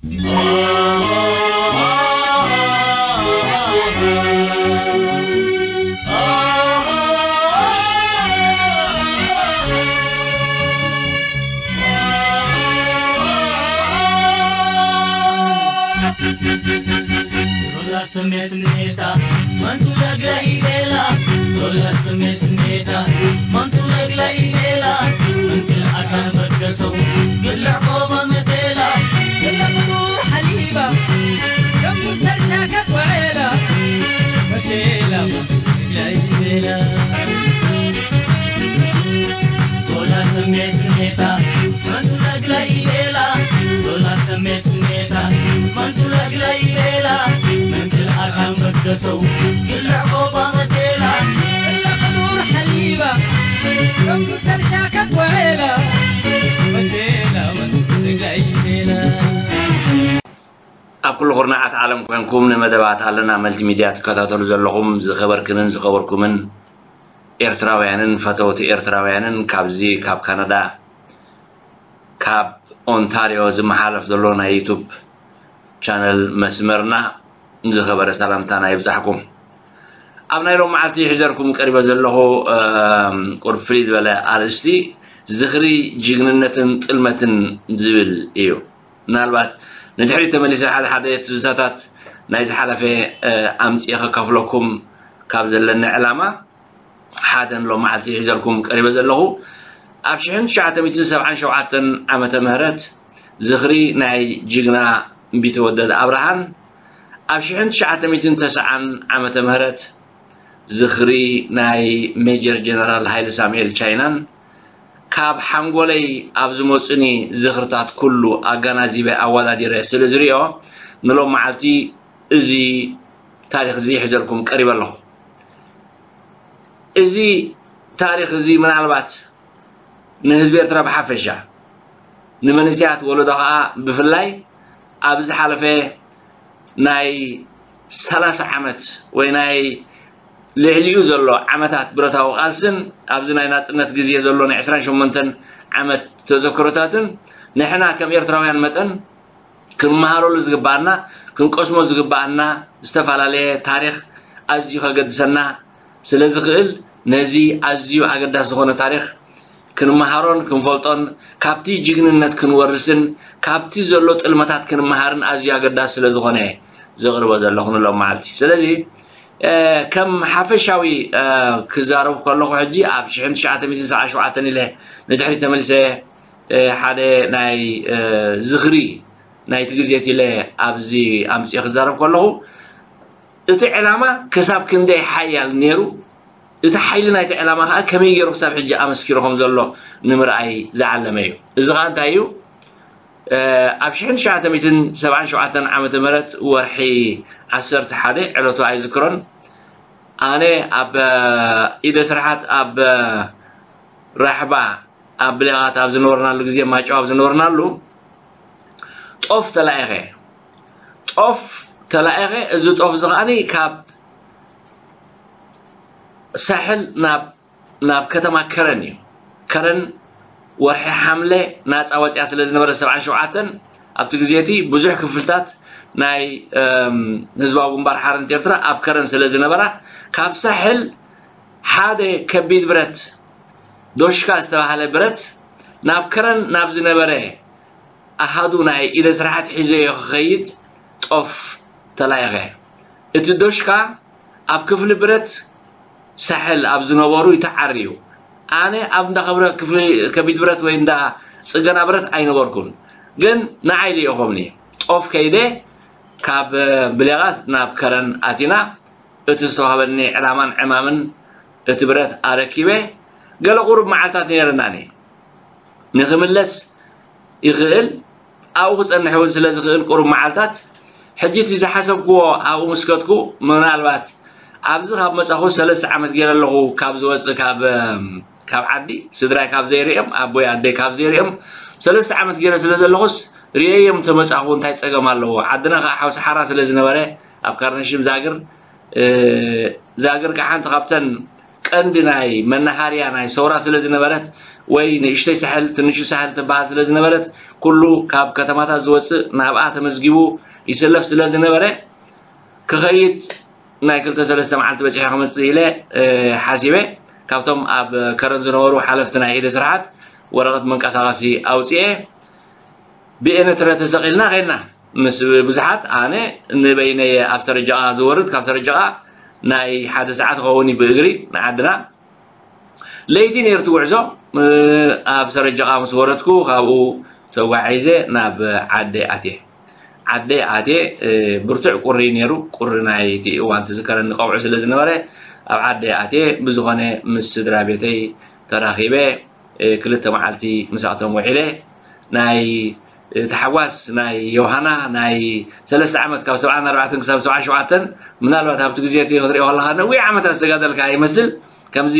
ዶላ ስሜት ስሜታ መንቱ ለግለ ኢሌላ ዶላ ስሜት ስሜታ መንቱ ለግለ ኢሌላ እንክል ኣካን በትከሰው ግልዕ ቆባ መቴላ ግለ ፍጡር ሓሊባ ከም ሰርሻ ከቆዔላ መቴላ መንቱ ለግለ ኢሌላ ዶላ ስሜት ስሜታ መንቱ ለግለ ኢሌላ ዶላ ስሜት ስሜታ መንቱ ለግለ ኢሌላ መንክል ኣካን በትከሰው ግልዕ ቆባ መቴላ ግለ ፍጡር ሓሊባ ከም ሰርሻ ከቆዔላ መቴላ መንቱ ለግለ ኢሌላ ኣብ ኩሉ ኩርናዓት ዓለም ኮንኩም ንመደባት ኣለና መልቲ ሚድያ ትከታተሉ ዘለኹም ዝኸበርክንን ዝኸበርኩምን ኤርትራውያንን ፈተውቲ ኤርትራውያንን ካብዚ ካብ ካናዳ ካብ ኦንታሪዮ ዝመሓለፍ ዘሎ ናይ ዩቱብ ቻነል መስመርና ዝኸበረ ሰላምታና ይብዛሕኩም። ኣብ ናይ ሎም መዓልቲ ሒዘልኩም ቀሪበ ዘለኹ ቁርብ ፍልይ ዝበለ ኣርእስቲ ዝኽሪ ጅግንነትን ጥልመትን ዝብል እዩ። ምናልባት ንድሕሪት ተመሊሰ ሓደ ሓደ ትዝታታት ናይ ዝሓለፈ ኣምፅኤ ከካፍለኩም ካብ ዘለኒ ዕላማ ሓደን ሎም መዓልቲ ሒዘልኩም ቀሪበ ዘለኹ ኣብ ሽሕን ትሽዓተ ሚእትን ሰብዓን ሸውዓተን ዓመተ ምህረት ዝኽሪ ናይ ጅግና ቢተወደድ ኣብርሃን ኣብ ሽሕን ትሽዓተ ሚእትን ተስዓን ዓመተ ምህረት ዝኽሪ ናይ ሜጀር ጀነራል ሃይለ ሳሙኤል ቻይናን ካብ ሓንጎለይ ኣብ ዝመፁኒ ዝኽርታት ኩሉ ኣጋናዚበ ኣዋዳዲረ ስለ ዝሪኦ ንሎም መዓልቲ እዚ ታሪኽ እዚ ሒዘልኩም ቀሪበ ኣለኹ። እዚ ታሪኽ እዚ ምናልባት ንህዝቢ ኤርትራ ብሓፈሻ ንመንእሰያት ወለዶ ከዓ ብፍላይ ኣብ ዝሓለፈ ናይ ሰላሳ ዓመት ወይ ናይ ልዕሊኡ ዘሎ ዓመታት ብረታዊ ቃልስን ኣብዚ ናይ ናፅነት ግዜ ዘሎ ናይ ዕስራን ሸሞንተን ዓመት ተዘክሮታትን ንሕና ከም ኤርትራውያን መጠን ክንመሃረሉ ዝግበኣና ክንቀስሞ ዝግበኣና ዝተፈላለየ ታሪኽ ኣዝዩ ከገድሰና ስለ ዝኽእል ነዚ ኣዝዩ ኣገዳሲ ዝኾነ ታሪኽ ክንመሃሮን ክንፈልጦን ካብቲ ጅግንነት ክንወርስን ካብቲ ዘሎ ጥልመታት ክንመሃርን ኣዝዩ ኣገዳሲ ስለ ዝኾነ ዘቕርቦ ዘለኹ ንሎም መዓልቲ። ስለዚ ከም ሓፈሻዊ ክዛረብ ከለኹ ሕጂ ኣብ ሽሕን ትሽዓተ ሚእትን ሰብዓን ሸውዓተን ኢለ ንድሕሪት ተመሊሰ ሓደ ናይ ዝኽሪ ናይቲ ግዜት ኢለ ኣብዚ ኣምፅኤ ክዛረብ ከለኹ እቲ ዕላማ ክሳብ ክንደይ ሓያል ነይሩ እቲ ሓይሊ ናይቲ ዕላማ ከዓ ከመይ ገይሩ ክሳብ ሕጂ ኣመስኪሩ ከም ዘሎ ንምርኣይ ዝዓለመ እዩ። እዚ ከዓ እንታይ እዩ? ኣብ ሽሕን ትሽዓተ ሚእትን ሰብዓን ሸውዓተን ዓመተ ምህረት ወርሒ ዓሰርተ ሓደ ዕለቱ ኣይዝክሮን ኣነ ኣብ ኢደ ስርሓት ኣብ ራሕባ ኣብ ብሌቓት ኣብ ዝነበርናሉ ግዜ ማጨው ኣብ ዝነበርናሉ ጦፍ ተላኢኸ ጦፍ ተላኢኸ እዚ ጦፍ እዚ ከዓኒ ካብ ሳሕል ናብ ናብ ከተማ ከረን እዩ። ከረን ወርሒ ሓምለ ናፃ ወፅያ ስለ ዝነበረ ሰብዓን ሸውዓተን ኣብቲ ግዜ እቲ ብዙሕ ክፍልታት ናይ ህዝባዊ ግንባር ሓርነት ኤርትራ ኣብ ከረን ስለ ዝነበራ ካብ ሳሕል ሓደ ከቢድ ብረት ዶሽካ ዝተባሃለ ብረት ናብ ከረን ናብ ዝነበረ ኣሃዱ ናይ ኢደ ስራሓት ሒዘዮ ክኸይድ ጦፍ ተላኢኸ። እቲ ዶሽካ ኣብ ክፍሊ ብረት ሳሕል ኣብ ዝነበሩ ይተዓርዩ። ኣነ ኣብ እንዳ ከብረ ክፍሊ ከቢድ ብረት ወይ እንዳ ጽገና ብረት ኣይነበርኩን። ግን ንዓይ ልኢኾምኒ። ጦፍ ከይደ ካብ ብሌቓት ናብ ከረን ኣቲና እቲ ዝተዋህበኒ ዕላማን ዕማምን እቲ ብረት ኣረኪበ። ገለ ቁሩብ መዓልታት ነይረናኒ። ንኽምለስ ይኽእል ኣብኡ ክጸንሕ እውን ስለ ዝኽእል ቁሩብ መዓልታት ሕጂ እቲ ዝሓሰብክዎ ኣብኡ ምስ ከድኩ ምናልባት ኣብዚ ካብ መጻኹ ሰለስተ ዓመት ገይረ ኣለኹ ካብ ዝወጽእ ካብ ካብ ዓዲ ስድራይ ካብ ዘይርእዮም ኣቦይ ኣደይ ካብ ዘይርእዮም ሰለስተ ዓመት ገይረ ስለ ዘለኹስ ርእየዮም ተመጻኹ እንታይ ጸገም ኣለዎ ዓድና ከዓ ሓውሲ ሓራ ስለ ዝነበረ ኣብ ካርነሽም ዛግር ዛግር ከዓ ሓንቲ ካብተን ቀንዲ ናይ መናሃርያ ናይ ሰውራ ስለ ዝነበረት ወይ ንእሽተይ ሳሕል ትንሹ ሳሕል ትበሃል ስለ ዝነበረት፣ ኩሉ ካብ ከተማታት ዝወፅእ ናብኣ ተመዝጊቡ ይሰለፍ ስለ ዝነበረ፣ ክኸይድ ናይ ክልተ ሰለስተ መዓልቲ በፂሐ ክመፅእ ኢለ ሓሲበ። ካብቶም ኣብ ከረን ዝነበሩ ሓለፍቲ ናይ ኢደ ስርሓት ወረቐት መንቀሳቐሲ ኣውፅኤ ብኤነትረ ተሰቒልና ከይድና። ምስ ብዙሓት ኣነ ንበይነየ ኣብ ሰረጃቓ ዝወርድ፣ ካብ ሰረጃቓ ናይ ሓደ ሰዓት ክኸውን እዩ ብእግሪ ንዓድና። ለይቲ ነይሩ እቲ ጉዕዞ። ኣብ ሰረጃቓ ምስ ወረድኩ ካብኡ ተጓዒዘ ናብ ዓደይ ኣትየ። ዓደይ ኣትየ። ብርቱዕ ቁሪ ነይሩ። ቁሪ ናይቲ እዋን ትዝከረኒ ቀውዒ ስለ ዝነበረ ኣብ ዓደይ ኣትየ። ብዝኾነ ምስ ስድራ ቤተይ ተራኺበ። ክልተ መዓልቲ ምስኣቶም ውዒለ። ናይ ታሕጓስ ናይ ዮሃና ናይ ሰለስተ ዓመት ካብ ሰብዓን ኣርባዕተን ክሳብ ሰብዓ ሸውዓተን ምናልባት ኣብቲ ግዜ እቲ ክትሪኦ ከለካ ነዊሕ ዓመታት ዝተጋደልካ ይመስል። ከምዚ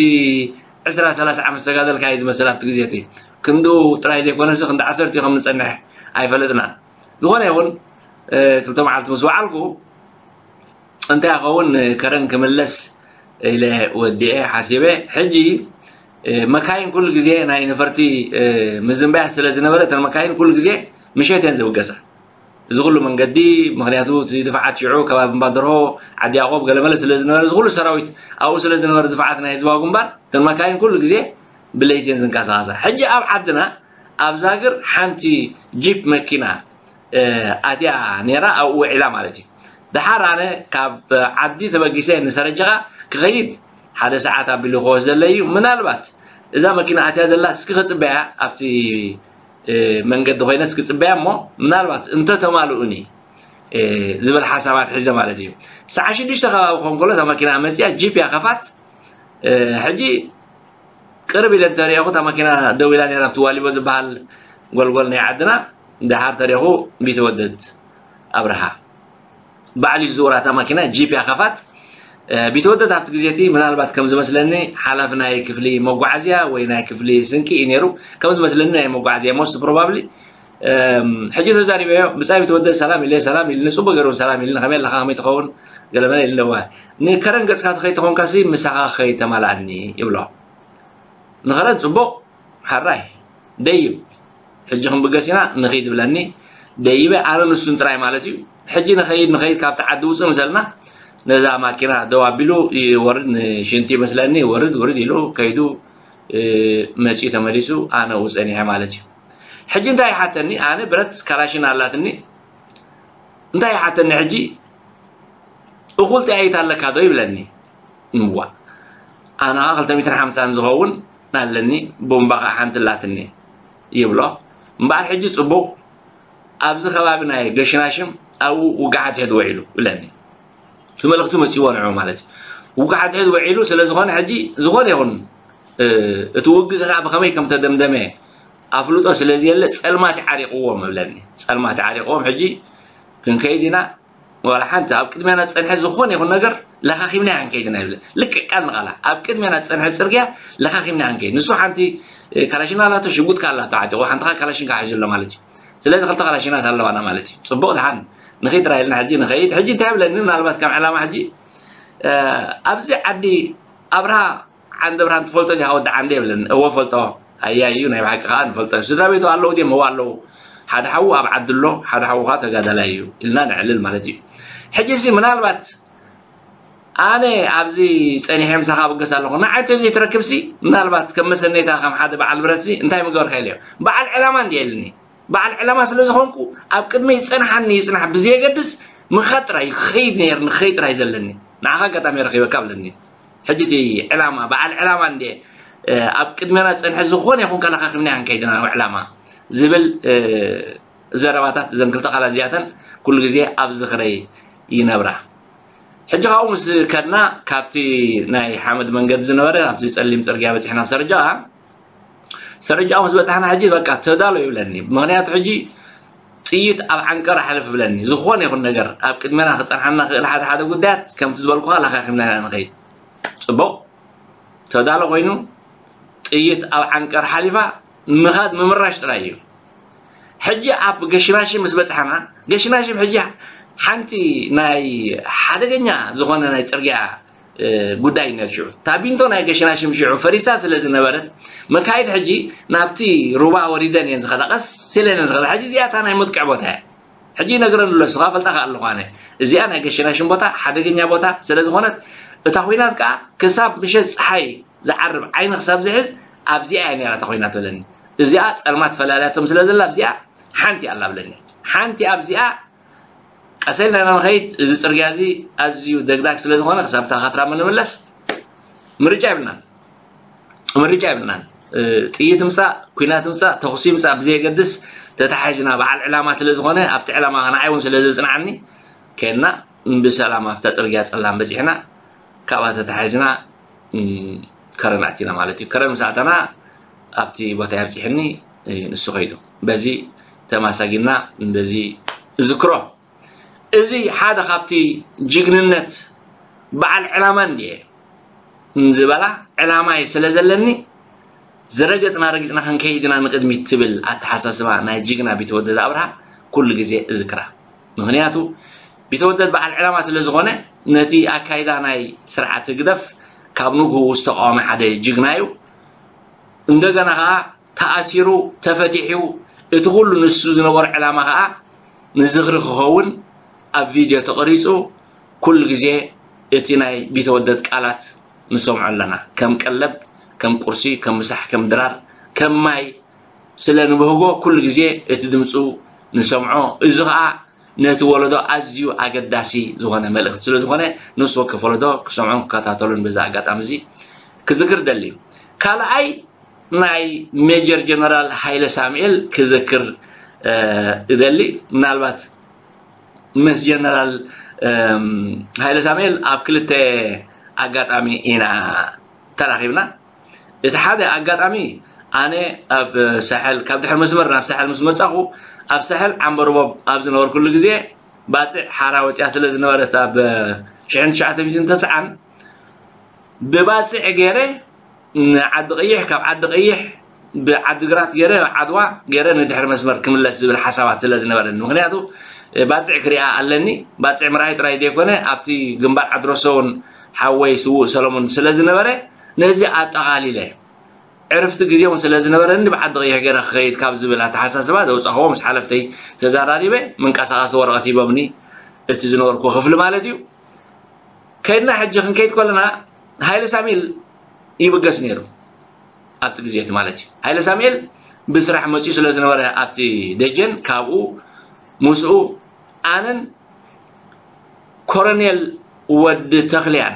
ዕስራ ሰላሳ ዓመት ዝተጋደልካ እዩ ዝመስል ኣብቲ ግዜ እቲ። ክንዱ ጥራይ ዘይኮነሲ ክንዲ ዓሰርተ ከም ንጸንሕ ኣይፈለጥናን። ዝኾነ ይኹን ክልተ መዓልቲ ምስ ወዓልኩ እንታይ ይኸውን ከረን ክምለስ ኢለ ወዲኤ ሓሲበ። ሕጂ መካይን ኩሉ ግዜ ናይ ነፈርቲ ምዝንባያ ስለ ዝነበረ እተን መካይን ኩሉ ግዜ ምሸት እየን ዝብገሳ። እዚ ኩሉ መንገዲ ምክንያቱ እቲ ድፋዓት ሽዑ ከባቢ እምባደርሆ ዓዲ ያቆብ ገለመለ ስለ ዝነበረ እዚ ኩሉ ሰራዊት ኣብኡ ስለ ዝነበረ ድፋዓት ናይ ህዝባዊ ግንባር እተን መካይን ኩሉ ግዜ ብለይቲ እየን ዝንቀሳቐሳ። ሕጂ ኣብ ዓድና ኣብ ዛግር ሓንቲ ጂፕ መኪና ኣትያ ነይራ ኣብኡ ውዒላ ማለት እዩ። ደሓር ኣነ ካብ ዓዲ ተበጊሰ ንሰረጀቓ ክኸይድ ሓደ ሰዓት ኣቢሉ ክወስደለይ እዩ። ምናልባት እዛ መኪና ኣትያ ዘላ እስኪ ክፅበያ ኣብቲ መንገዲ ኮይነ እስኪ ፅበያ እሞ ምናልባት እንተተማልኡኒ ዝብል ሓሳባት ሒዘ ማለት እዩ። ሰዓ ሽዱሽተ ከባቢ ክኾን ከሎ እታ መኪና መፅያ ጂፕ እያ ከፋት። ሕጂ ቅርብ ኢለ እንተሪኦኹ እታ መኪና ደው ኢላ ነይራ ኣብቲ ዋሊቦ ዝበሃል ጎልጎል ናይ ዓድና። ደሓር ተሪኹ ቢተወደድ ኣብርሃ ባዕሉ ዝዝውራ እታ መኪና ጂፕ እያ ከፋት። ቢተወደድ ኣብቲ ግዜ እቲ ምናልባት ከም ዝመስለኒ ሓላፊ ናይ ክፍሊ መጓዓዝያ ወይ ናይ ክፍሊ ስንቂ እዩ ነይሩ ከም ዝመስለኒ ናይ መጓዓዝያ most probably። ሕጂ ተዛሪበዮ ብጻይ ቢተወደድ ሰላም ኢለ ሰላም ኢልኒ ጽቡቅ ገይሩ ሰላም ኢልኒ ከመይ ኣለካ ከመይ ትኸውን ገለመለ ኢልኒ እዋ ንከረን ገጽካ ትኸይ ተኾንካሲ ምሳኻ ክኸይ ተማላኣኒ ይብሎ። ንኸረን ጽቡቕ ሓራይ ደይብ ሕጂ ክንብገስ ኢና ንኺድ ብለኒ ደይበ ኣነ ንሱን ጥራይ ማለት እዩ። ሕጂ ንኸይድ ንኸይድ ካብቲ ዓዲ ውፅእ ምሰልና ነዛ ማኪና ደው ኣቢሉ ይወርድ ንሽንቲ ይመስለኒ ወርድ ውርድ ኢሉ ከይዱ መፂኡ ተመሊሱ ኣነ ውፀኒሐ ማለት እዩ። ሕጂ እንታይ ይሓተኒ ኣነ ብረት ካላሽን ኣላትኒ እንታይ ይሓተኒ ሕጂ እኹል ጠያይት ኣለካ ዶ ይብለኒ። እዋ ኣነ ከዓ ክልተ ሚእትን ሓምሳን ዝኸውን ኣለኒ ቦምባ ከዓ ሓንቲ ኣላትኒ ይብሎ። እምበኣር ሕጂ ፅቡቕ ኣብዚ ከባቢ ናይ ገሽናሽም ኣብኡ ውግዓት ሕድ ውዒሉ ይብለኒ። እቲ መልእኽቲ መፂዎ ንዑ ማለት እዩ። ውግዓት ሕድ ውዒሉ ስለ ዝኾነ ሕጂ ዝኾነ ይኹን እቲ ውግእ ከዓ ብኸመይ ከም ተደምደመ ኣፍልጦ ስለ ዘየለ ፀልማት ይዓሪቕዎም ይብለኒ። ፀልማት ይዓሪቕዎም ሕጂ ክንከይድ ኢና ዋላ ሓንቲ ኣብ ቅድሜና ዝፀንሐ ዝኾነ ይኹን ነገር ለኻኺምና ክንከይድ ኢና ይብለ ልክዕ ቃል ንቓላ ኣብ ቅድሜና ዝፀንሐ ብፅርግያ ለኻኺምና ክንከይድ ንሱ ሓንቲ ካላሽና ኣላቶ ሽጉጥካ ኣላቶ ዓጢቑ ሓንትኻ ካላሽንካ ሒዙ ኣሎ ማለት እዩ። ስለዚ ክልተ ካላሽናት ኣለዋና ማለት እዩ። ፅቡቕ ድሓን ንኸይድ ጥራይ ኢልና ሕጂ ንኸይድ ሕጂ እንታይ ይብለኒ ምናልባት ከም ዕላማ ሕጂ ኣብዚ ዓዲ ኣብርሃ ዓንደ ብርሃን ትፈልጦ ዲኻ ወዲ ዓንደ ይብለኒ። እወ ፈልጦ። ኣያ እዩ ናይ ብሓቂ ከዓ ንፈልጦ ስድራ ቤቱ ኣለዉ ድዮም እወ ኣለዉ ሓደ ሓዉ ኣብ ዓዲ ኣሎ ሓደ ሓዉ ከዓ ተጋዳላይ እዩ ኢልና ነዕልል ማለት እዩ። ሕጂ ሲ ምናልባት ኣነ ኣብዚ ፀኒሐ ምሳኻ ብገስ ኣለኹ ንዓይ ተዘይትረክብሲ ምናልባት ከም መሰነይታ ከም ሓደ በዓል ብረትሲ እንታይ ምገበርካ ኢለዮ። በዓል ዕላማ እንዲ የልኒ በዓል ዕላማ ስለ ዝኾንኩ ኣብ ቅድመይ ዝፀንሓኒ ይፅናሕ ብዘየገድስ ምኻድ ጥራይ እዩ ክኸይድ ነይርኒ ክኸይድ ጥራይ ዘለኒ። ንዓኻ ኣጋጣሚ ረኺበካ ብለኒ። ሕጂ እቲ ዕላማ በዓል ዕላማ እንደ ኣብ ቅድሜና ዝፀንሐ ዝኾነ ይኹን ከለኻኺምና ክንከይድና ዕላማ ዝብል ዘረባታት እዘን ክልተ ቃላት እዚኣተን ኩሉ ግዜ ኣብ ዝኽረይ ይነብራ። ሕጂ ካብኡ ምስ ከድና ካብቲ ናይ ሓመድ መንገዲ ዝነበረ ኣብቲ ፀሊም ፅርግያ በፂሕና ኣብ ሰርጃ ሰርጃ ምስ በፃሕና ሕጂ በቃ ተዳሎ ይብለኒ። ምክንያቱ ሕጂ ጥይት ኣብ ዓንቀር ሓልፍ ብለኒ ዝኾነ ይኹን ነገር ኣብ ቅድሜና ክፀንሓና ክእል ሓደ ሓደ ጉዳያት ከምቲ ዝበልኩካ ለኻኺምና ኢና ንኸይድ። ፅቡቕ ተዳሎ ኮይኑ ጥይት ኣብ ዓንቀር ሓሊፋ ምኻድ ምምራሽ ጥራይ እዩ። ሕጂ ኣብ ገሽናሽም ምስ በፅሓና ገሽናሽም ሕጂ ሓንቲ ናይ ሓደገኛ ዝኾነ ናይ ፅርግያ ጉዳይ ነርሽዑ። ታቢንቶ ናይ ገሽናሽም ሽዑ ፈሪሳ ስለ ዝነበረት፣ መካይድ ሕጂ ናብቲ ሩባ ወሪደን እየን ዝኸዳ፣ ቀስ ኢለን እየን ዝኸዳ። ሕጂ እዚኣ እታ ናይ መጥቅዕ ቦታ እያ። ሕጂ ይነግረን ኣሎ፣ ንስኻ ፈልጣ ከኣ ኣለኹ ኣነ። እዚኣ ናይ ገሽናሽም ቦታ ሓደገኛ ቦታ ስለ ዝኾነት፣ እታ ኹናት ከኣ ክሳብ ምሸት ጸሓይ ዝዓርብ ዓይኒ ክሳብ ዝሕዝ ኣብዚኣ እያ ነራ እታ ኹናት በለኒ። እዚኣ ጸልማት ፈላልያቶም ስለ ዘላ ኣብዚኣ ሓንቲ ኣላ ብለኒ። ሓንቲ ኣብዚኣ ቀሰልና ኢና ንኸይድ። እዚ ጽርግያ እዚ ኣዝዩ ደግዳግ ስለ ዝኾነ ክሳብ እታ ካትራመ ንምለስ ምርጫ የብልናን። ምርጫ የብልናን። ጥይት ምጻእ፣ ኩናት ምጻእ፣ ተኹሲ ምጻእ ብዘየገድስ ተታሒዝና በዓል ዕላማ ስለ ዝኾነ ኣብቲ ዕላማ ንዓይ እውን ስለ ዘጽንዓኒ ከድና ብሰላም ኣብታ ጽርግያ ጸላም በጺሕና ካብኣ ተታሒዝና ከረን ኣቲና ማለት እዩ። ከረን ምስ ኣተና ኣብቲ ቦታ ኣብጺሕኒ ንሱ ከይዱ በዚ ተማሳጊና በዚ እዝክሮ። እዚ ሓደ ካብቲ ጅግንነት በዓል ዕላማ እንድየ ዝበላ ዕላማይ ስለ ዘለኒ ዝረገጽና ረጊጽና ክንከይድ ኢና ንቕድሚት ትብል ኣተሓሳስባ ናይ ጅግና ቢተወደድ ኣብርሃ ኩሉ ግዜ እዝክራ። ምኽንያቱ ቢተወደድ በዓል ዕላማ ስለ ዝኾነ ነቲ ኣካይዳ ናይ ስርዓት ህግደፍ ካብ ንግህኡ ዝተቃወመ ሓደ ጅግና እዩ። እንደገና ከዓ ተኣሲሩ ተፈቲሑ እቲ ኩሉ ንሱ ዝነበሮ ዕላማ ከዓ ንዝኽሪ ክኸውን ኣብ ቪድዮ ተቐሪጹ ኩሉ ግዜ እቲ ናይ ቢተወደድ ቃላት ንሰምዖ ኣለና። ከም ቀለብ፣ ከም ቁርሲ፣ ከም ምሳሕ፣ ከም ድራር፣ ከም ማይ ስለ ንብህጎ ኩሉ ግዜ እቲ ድምፁ ንሰምዖ። እዚ ከዓ ነቲ ወለዶ ኣዝዩ ኣገዳሲ ዝኾነ መልእኽቲ ስለ ዝኾነ ንሱ ወከፍ ወለዶ ክሰምዖን ክከታተሉን በዚ ኣጋጣሚ እዚ ክዝክር ደሊ። ካልኣይ ናይ ሜጀር ጀነራል ሃይለ ሳሙኤል ክዝክር እደሊ። ምናልባት ምስ ጀነራል ሃይለ ሳሙኤል ኣብ ክልተ ኣጋጣሚ ኢና ተራኺብና። እቲ ሓደ ኣጋጣሚ ኣነ ኣብ ሳሕል ካብ ድሕሪ መስመር ናብ ሳሕል ምስ መጻኹ ኣብ ሳሕል ዓምበርቦብ ኣብ ዝነበርኩሉ ግዜ ባጽዕ ሓራ ወጽያ ስለ ዝነበረት ኣብ ሽሕን ትሽዓተ ሚእትን ተስዓን ብባጽዕ ገይረ ንዓዲ ቀይሕ ካብ ዓዲ ቀይሕ ብዓዲ ግራት ገይረ ዓድዋ ገይረ ንድሕሪ መስመር ክምለስ ዝብል ሓሳባት ስለ ዝነበረኒ ምክንያቱ ባጽዕ ክሪኣ ኣለኒ። ባጽዕ ምርኣይ ጥራይ ዘይኮነ ኣብቲ ግንባር ዓድረሶ እውን ሓወይ ስዉእ ሰለሙን ስለ ዝነበረ ነዚ ኣጠቓሊለ ዕርፍቲ ግዜ እውን ስለ ዝነበረኒ ብዓዲ ቀይሕ ገይረ ክኸይድ ካብ ዝብል ኣተሓሳስባ ዘውፃኽዎ ምስ ሓለፍተይ ተዘራሪበ መንቀሳቐሲ ወረቐት ሂቦምኒ እቲ ዝነበርኩ ክፍሊ ማለት እዩ። ከይድና ሕጂ ክንከይድ ከለና ሃይለ ሳሚል ይብገስ ነይሩ ኣብቲ ግዜ እቲ ማለት እዩ። ሃይለ ሳሙኤል ብስራሕ መፅኡ ስለ ዝነበረ ኣብቲ ደጀን ካብኡ ምስኡ ኣነን ኮረኔል ወዲ ተኽልያን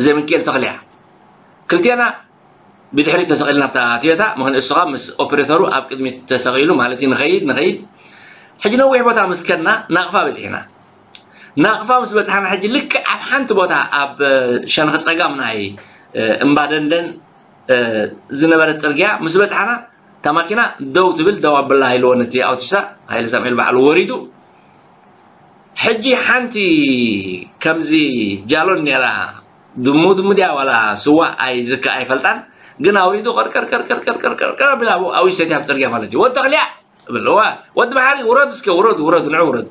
ዘምክኤል ተኽልያ ክልቴና ብድሕሪት ተሰቒልና ኣብታ ቶዮታ ምኽንያቱ እሱ ምስ ኦፕሬተሩ ኣብ ቅድሚት ተሰቒሉ ማለት እዩ። ንኸይድ ንኸይድ ሕጂ ነዊሕ ቦታ ምስ ከድና ናቕፋ በፂሕና። ናቕፋ ምስ በፅሓና ሕጂ ልክዕ ኣብ ሓንቲ ቦታ ኣብ ሸንኺ ፀጋም ናይ እምባ ደንደን ዝነበረ ፅርግያ ምስ በፅሓና እታ ማኪና ደው ትብል ደው ኣብላ ኢልዎ ነቲ ኣውቲሳ ሃይለ ሳሙኤል ባዕሉ ወሪዱ። ሕጂ ሓንቲ ከምዚ ጃሎን ነይራ ድሙ ድሙ ድያ ዋላ ስዋ ኣይዝከ ኣይፈልጣን ግን ኣውሪዱ ቀርቀር ቀርቀር ቀርቀር ቀርቀር ኣቢላ ኣብኡ ኣውዩ ሰትያ ኣብ ፅርግያ ማለት እዩ። ወዲ ተኽልያ እብል እዋ ወዲ መሓሪ ውረድ እስከ ውረድ ውረድ ንዑ ውረድ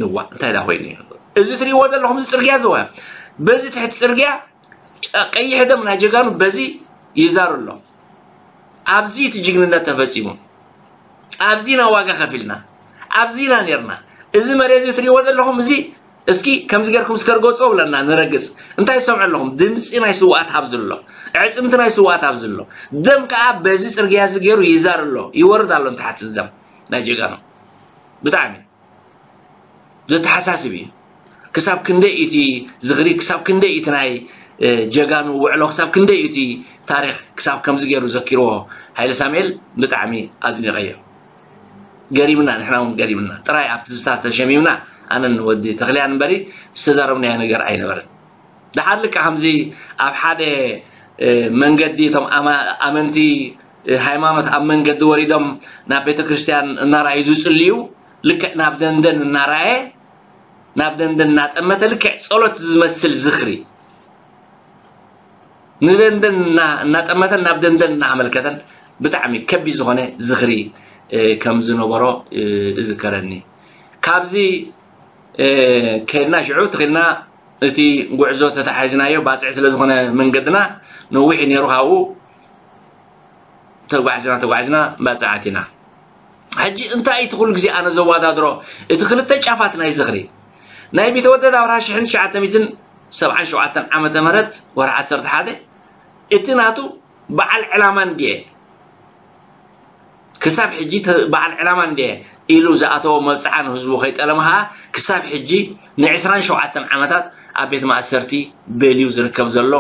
እዋ እንታይ ዳ ኮይኑ እዩ እዚ ትሪእዎ ዘለኹም እዚ ፅርግያ ዝዋ በዚ ትሕቲ ፅርግያ ቀይሕ ደም ናይ ጀጋኑ በዚ ይዛሩ ኣሎ። ኣብዚ እቲ ጅግንነት ተፈፂሙ ኣብዚ ኢና ዋጋ ከፊልና ኣብዚ ኢና ነርና እዚ መሬት እዚ ትሪእዎ ዘለኹም እዚ እስኪ ከምዚ ገርኩም እስከ ርገፁ ብለና ንረግፅ እንታይ ትሰምዑ ኣለኹም ድምፂ ናይ ስዋኣት ኣብዚ ኣሎ ዕፅምቲ ናይ ስዋኣት ኣብዚ ኣሎ ደም ከዓ በዚ ፅርግያ እዚ ገይሩ ይዛር ኣሎ ይወርድ ኣሎ ንታሕቲ ደም ናይ ጀጋኑ ብጣዕሚ ዘተሓሳስብ እዩ። ክሳብ ክንደይ እቲ ዝኽሪ ክሳብ ክንደይ እቲ ናይ ጀጋኑ ውዕሎ ክሳብ ክንደይ እቲ ታሪክ ክሳብ ከምዚ ገይሩ ዘኪርዎ ሃይለ ሳሙኤል ብጣዕሚ ኣድኒቐዮ። ገሪምና ንሕና እውን ገሪምና ጥራይ ኣብቲ ዝስታ ተሸሚምና ኣነን ወዲ ተኽልያን እምበሪ ዝተዛረብናዮ ነገር ኣይነበረን። ደሓር ልክዕ ከምዚ ኣብ ሓደ መንገዲ እቶም ኣመንቲ ሃይማኖት ኣብ መንገዲ ወሪዶም ናብ ቤተክርስትያን እናረኣዩ ዝፅልዩ ልክዕ ናብ ደንደን እናረኣየ ናብ ደንደን እናጠመተ ልክዕ ፀሎት ዝመስል ዝኽሪ ንደንደን እናጠመተን ናብ ደንደን እናኣመልከተን ብጣዕሚ ከቢድ ዝኾነ ዝኽሪ ከም ዝነበሮ እዝከረኒ። ካብዚ ከድና ሽዑ ትኽልና እቲ ጉዕዞ ተተሓሒዝናዮ ባፅዕ ስለ ዝኾነ መንገድና ነዊሕ እዩ ነይሩ። ካብኡ ተጓዕዝና ተጓዕዝና ባፅዕ ኣቲና። ሕጂ እንታይ እቲ ኩሉ ግዜ ኣነ ዘወዳድሮ እቲ ክልተ ጫፋት ናይ ዝኽሪ ናይ ቢተወደድ ኣብርሃ ሽሕን ትሽዓተ ሚእትን ሰብዓን ሸውዓተን ዓመተ ምህረት ወርሒ ዓሰርተ ሓደ እቲ ናቱ በዓል ዕላማ እንድየ ክሳብ ሕጂ ተ- በዓል ዕላማ እንድየ ኢሉ ዝኣተዎ መብፅዓ ንህዝቡ ከይጠለመ ከዓ ክሳብ ሕጂ ንዕስራን ሸውዓተን ዓመታት ኣብ ቤት ማእሰርቲ በልዩ ዝርከብ ዘሎ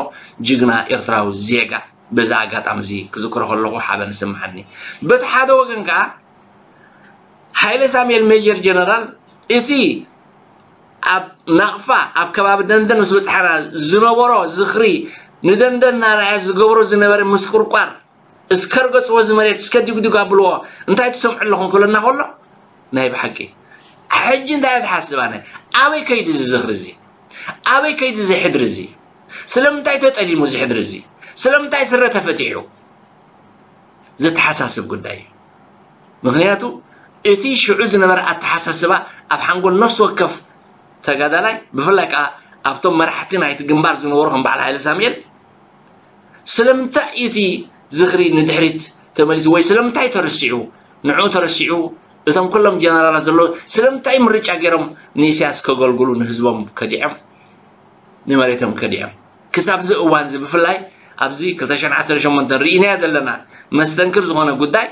ጅግና ኤርትራዊ ዜጋ በዚ ኣጋጣሚ እዚ ክዝክሮ ከለኹ ሓበን ይስምዓኒ። በቲ ሓደ ወገን ከዓ ሓይለ ሳሙኤል ሜጀር ጀነራል እቲ ኣብ ናቕፋ ኣብ ከባቢ ደንደን ምስ በፅሓና ዝነበሮ ዝኽሪ ንደንደን እናረኣየ ዝገብሮ ዝነበረ ምስቁርቋር እስከ ርገፅዎ እዚ መሬት እስከ ዲጉዲጉ ኣብልዎ እንታይ ትሰምዑ ኣለኹም ክብለና ከሎ ናይ ብሓቂ ሕጂ እንታይ እየ ዝሓስብ ኣነ ኣበይ ከይዱ እዚ ዝኽሪ እዚ ኣበይ ከይዱ እዚ ሕድሪ እዚ ስለምንታይ ተጠሊሙ እዚ ሕድሪ እዚ ስለምንታይ ስረ ተፈቲሑ ዘተሓሳስብ ጉዳይ እዩ ምክንያቱ እቲ ሽዑ ዝነበረ ኣተሓሳስባ ኣብ ሓንጎል ነፍሲ ወከፍ ተጋዳላይ ብፍላይ ከዓ ኣብቶም መራሕቲ ናይቲ ግንባር ዝነበሩ ከም በዓል ሃይለ ሳሙኤል ስለምንታይ እቲ ዝኽሪ ንድሕሪት ተመሊሱ ወይ ስለምንታይ ተረሲዑ ንዑ ተረሲዑ እቶም ኩሎም ጀነራላት ዘለዎ ስለምንታይ ምርጫ ገይሮም ንኢሳያስ ከገልግሉ ንህዝቦም ከዲዖም ንመሬቶም ከዲዖም ክሳብ እዚ እዋን እዚ ብፍላይ ኣብዚ ክልተ ሽሕን ዓሰርተ ሸሞንተን ርኢናዮ ዘለና መስተንክር ዝኾነ ጉዳይ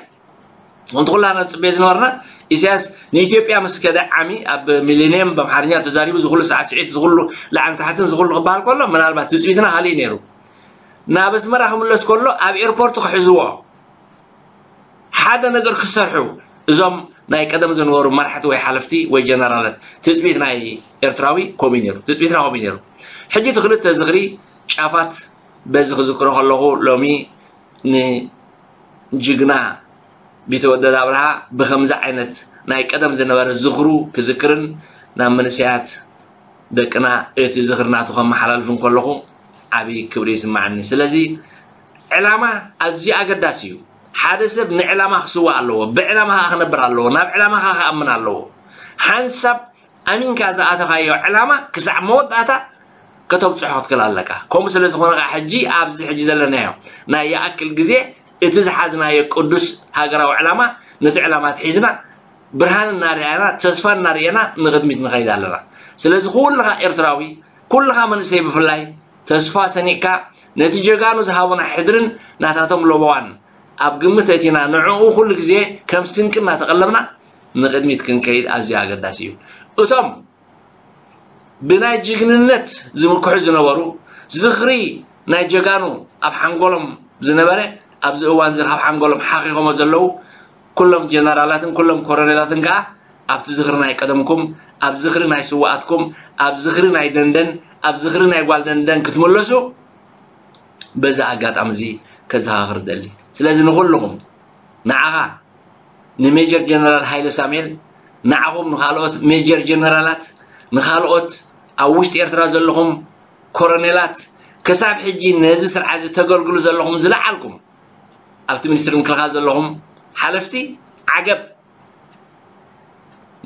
ከምቲ ኩላና ንፅበዮ ዝነበርና ኢሳያስ ንኢትዮጵያ ምስ ከደ ዓሚ ኣብ ሚሊኒየም ብኣምሓርኛ ተዛሪቡ ዝኩሉ ሳዕስዒት ዝኩሉ ላዕሊ ታሕትን ዝኩሉ ክበሃል ከሎ ምናልባት ትፅቢትና ካሊእ ነይሩ ናብ ኣስመራ ክምለስ ከሎ ኣብ ኤርፖርት ክሕዝዎ ሓደ ነገር ክሰርሑ እዞም ናይ ቀደም ዝነበሩ መራሕቲ ወይ ሓለፍቲ ወይ ጀነራላት ትፅቢት ናይ ኤርትራዊ ከምኡ ነይሩ ትፅቢትና ከምኡ ነይሩ ሕጂ እቲ ክልተ ዝኽሪ ጫፋት በዚ ክዝክሮ ከለኹ ሎሚ ንጅግና ቢተወደድ ኣብርሃ ብከምዚ ዓይነት ናይ ቀደም ዝነበረ ዝኽሩ ክዝክርን ናብ መንእሰያት ደቅና እቲ ዝኽሪ ናቱ ከመሓላልፍ እንከለኹ ዓብዪ ክብሪ ይስማዓኒ ስለዚ ዕላማ ኣዝዩ ኣገዳሲ እዩ ሓደ ሰብ ንዕላማ ክስዋእ ኣለዎ ብዕላማ ከዓ ክነብር ኣለዎ ናብ ዕላማ ከዓ ክኣምን ኣለዎ ሓንሳብ ኣሚንካ ዝኣተኻዮ ዕላማ ክሳዕ መወዳእታ ከተብፅሖ ክትክእል ኣለካ ከምኡ ስለ ዝኾነ ከዓ ሕጂ ኣብዚ ሕጂ ዘለናዮ ናይ ይኣክል ግዜ እቲ ዝሓዝናዮ ቅዱስ ሃገራዊ ዕላማ ነቲ ዕላማ ትሒዝና ብርሃን እናርኣና ተስፋ እናርኣና ንቕድሚት ንኸይድ ኣለና ስለዚ ኩልኻ ኤርትራዊ ኩልኻ መንእሰይ ብፍላይ ተስፋ ሰኒቕካ ነቲ ጀጋኑ ዝሃቡና ሕድርን ናታቶም ለበዋን ኣብ ግምት ኣእቲና ንዕኡ ኩሉ ግዜ ከም ስንቂ እናተቐለብና ንቕድሚት ክንከይድ ኣዝዩ ኣገዳሲ እዩ። እቶም ብናይ ጅግንነት ዝምክሑ ዝነበሩ ዝኽሪ ናይ ጀጋኑ ኣብ ሓንጎሎም ዝነበረ ኣብዚ እዋን እዚ ካብ ሓንጎሎም ሓኺኾሞ ዘለዉ ኩሎም ጀነራላትን ኩሎም ኮረኔላትን ከዓ ኣብቲ ዝኽሪ ናይ ቀደምኩም ኣብ ዝኽሪ ናይ ስዋኣትኩም ኣብ ዝኽሪ ናይ ደንደን ኣብ ዝኽሪ ናይ ጓል ደንደን ክትምለሱ በዚ ኣጋጣሚ እዚ ከዘኻኽር ደሊ ስለዚ ንኹልኹም ንዓኻ ንሜጀር ጀነራል ሃይለ ሳሙኤል ንዓኹም ንኻልኦት ሜጀር ጀነራላት ንኻልኦት ኣብ ውሽጢ ኤርትራ ዘለኹም ኮረኔላት ክሳብ ሕጂ ነዚ ስርዓት እዚ ተገልግሉ ዘለኹም ዝለዓልኩም ኣብቲ ሚኒስትሪ ምክልኻል ዘለኹም ሓለፍቲ ዓገብ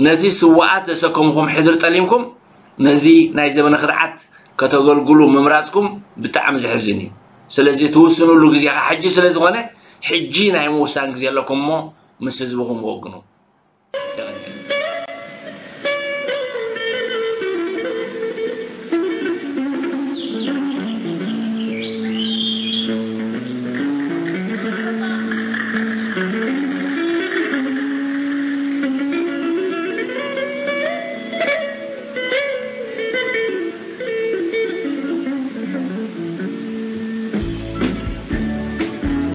ነቲ ስዋኣት ዘሰከምኹም ሕድሪ ጠሊምኩም ነዚ ናይ ዘበነ ክድዓት ከተገልግሉ ምምራፅኩም ብጣዕሚ ዘሕዝን እዩ። ስለዚ ትውስንሉ ግዜ ከዓ ሕጂ ስለ ዝኾነ ሕጂ ናይ ምውሳን ግዜ ኣለኩም እሞ ምስ ህዝብኹም ወግኑ።